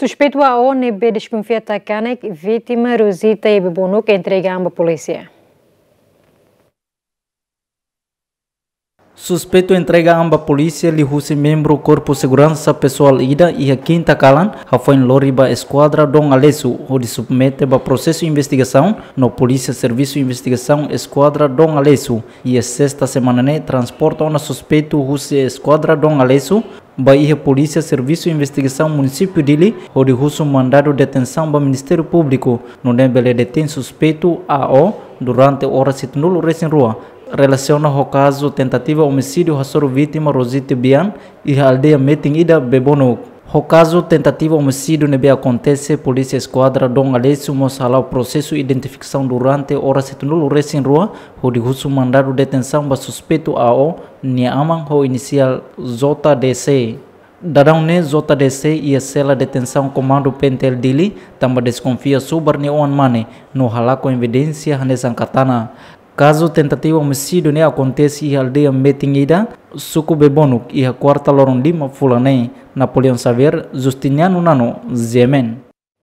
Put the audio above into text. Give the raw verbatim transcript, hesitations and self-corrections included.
Suspeitu A O ne'ebé deskonfia tan kanek vítima Rosita iha Bebonuk entrega an ba polísia. Suspeitu entrega an ba polísia liuhusi membru Korpu Seguransa Pesoál ida iha kinta kalan, hafoin lori ba Eskuadra Dom Aleixo, hodi submete ba prosesu investigasaun, no Polísia Servisu Investigasaun Eskuadra Dom Aleixo, iha sesta semana ne'e transporta ona suspeitu husi Eskuadra Dom Aleixo ba iha Polísia Servisu Investigasaun Munisípiu Dili, hodi husu mandadu detensaun ba Ministériu Públiku, nune'e bele detein suspeitu A O durante oras hitunulu resin rua, relasiona ho kazu tentativa omisídiu hasoru vítima Rosita Bian, iha aldeia metin ida Bebonuk. Ho kazu tentativa omisídiu ne'ebé akontese, Polísia Eskuadra Dom Aleixo mós hala'o prosesu identifikasaun durante oras hitunulu resin rua, hodi husu mandadu detensaun ba suspeitu A O nia aman ho inisiál J D C. Daudaun ne'e J D C iha sela detensaun Komandu P N T L Dili, tanba deskonfia subar nia oan-mane, no halakon evidénsia hanesan katana. Kazu tentativa omisídiu ne'e akontese iha aldeia metin ida, suku Bebonuk, iha kuarta loron lima fulan ne'e. Napoleão Xavier, Justiniano Nano, G M N.